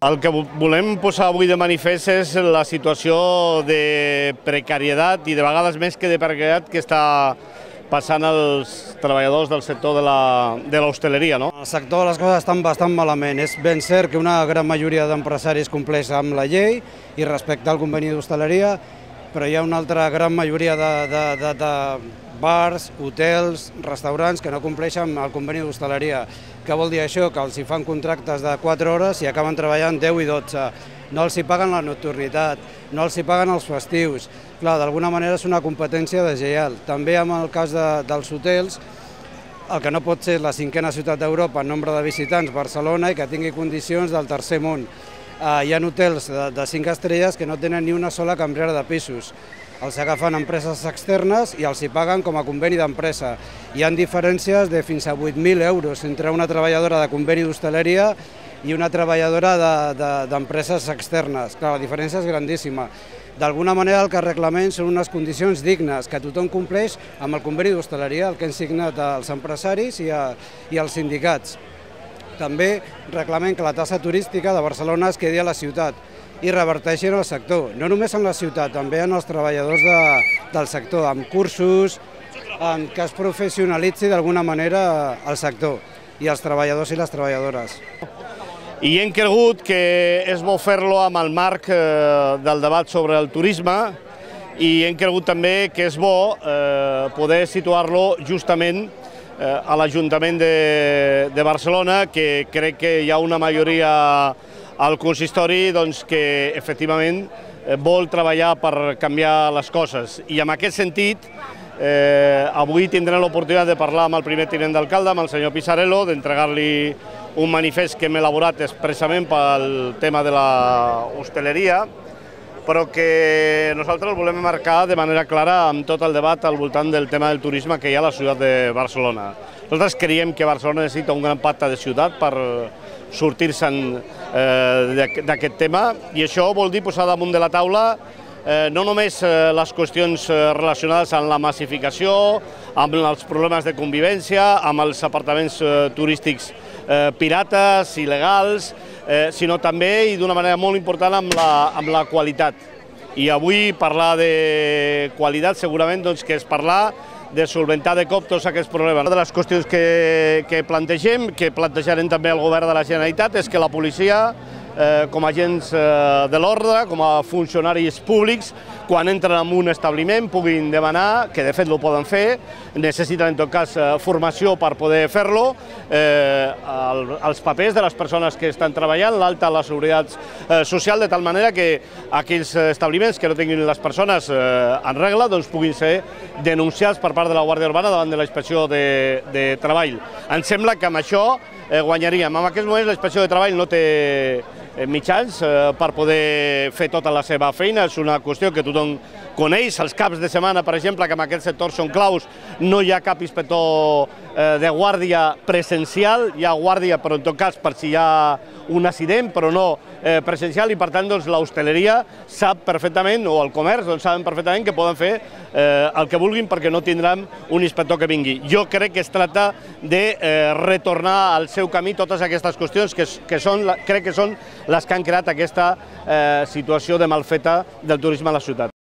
El que volem posar avui de manifest és la situació de precarietat i de vegades més que de precarietat que està passant als treballadors del sector de l'hostaleria. En el sector les coses estan bastant malament. És ben cert que una gran majoria d'empresaris compleix amb la llei i respecta el conveni d'hostaleria, però hi ha una altra gran majoria de bars, hotels, restaurants que no compleixen amb el conveni d'hostaleria. Què vol dir això? Que els hi fan contractes de 4 hores i acaben treballant 10 i 12. No els hi paguen la nocturnitat, no els hi paguen els festius. Clar, d'alguna manera és una competència deslleial. També en el cas dels hotels, el que no pot ser la 5a ciutat d'Europa en nombre de visitants, Barcelona, i que tingui condicions del tercer món. Hi ha hotels de 5 estrelles que no tenen ni una sola cambrera de pisos. Els agafen empreses externes i els hi paguen com a conveni d'empresa. Hi ha diferències de fins a 8.000 euros entre una treballadora de conveni d'hostaleria i una treballadora d'empreses externes. Clar, la diferència és grandíssima. D'alguna manera el que reclamem són unes condicions dignes, que tothom compleix amb el conveni d'hostaleria, el que han signat els empresaris i els sindicats. També reclamem que la taxa turística de Barcelona es quedi a la ciutat i reverteixi en el sector, no només en la ciutat, també en els treballadors del sector, amb cursos, que es professionalitzi d'alguna manera el sector i els treballadors i les treballadores. I hem cregut que és bo fer-lo amb el marc del debat sobre el turisme i hem cregut també que és bo poder situar-lo justament a l'Ajuntament de Barcelona, que crec que hi ha una majoria al consistori que efectivament vol treballar per canviar les coses. I en aquest sentit, avui tindrem l'oportunitat de parlar amb el primer tinent d'alcalde, amb el senyor Pisarello, d'entregar-li un manifest que hem elaborat expressament pel tema de l'hostaleria, però que nosaltres el volem marcar de manera clara amb tot el debat al voltant del tema del turisme que hi ha a la ciutat de Barcelona. Nosaltres creiem que Barcelona necessita un gran pacte de ciutat per sortir-se'n d'aquest tema i això vol dir posar damunt de la taula no només les qüestions relacionades amb la massificació, amb els problemes de convivència, amb els apartaments turístics pirates, il·legals, sinó també i d'una manera molt important amb la qualitat. I avui parlar de qualitat segurament que és parlar de solventar de cop tots aquests problemes. Una de les qüestions que plantegem, que plantejarem també al govern de la Generalitat, és que la policia, com a agents de l'ordre, com a funcionaris públics, quan entren en un establiment puguin demanar, que de fet ho poden fer, necessiten en tot cas formació per poder fer-lo, els papers de les persones que estan treballant, l'alta a la seguretat social, de tal manera que aquells establiments que no tinguin les persones en regla puguin ser denunciats per part de la Guàrdia Urbana davant de la Inspecció de Treball. Em sembla que amb això guanyaríem. En aquests moments la Inspecció de Treball no té mitjans per poder fer tota la seva feina, és una qüestió que tothom coneix. Els caps de setmana, per exemple, que en aquest sector són claus, no hi ha cap inspector de guàrdia presencial, hi ha guàrdia però en tot cas per si hi ha un accident, però no presencial, i per tant l'hostaleria sap perfectament, o el comerç saben perfectament que poden fer el que vulguin perquè no tindran un inspector que vingui. Jo crec que es tracta de retornar al seu camí totes aquestes qüestions que crec que són les que han creat aquesta situació de malfeta del turisme a la ciutat.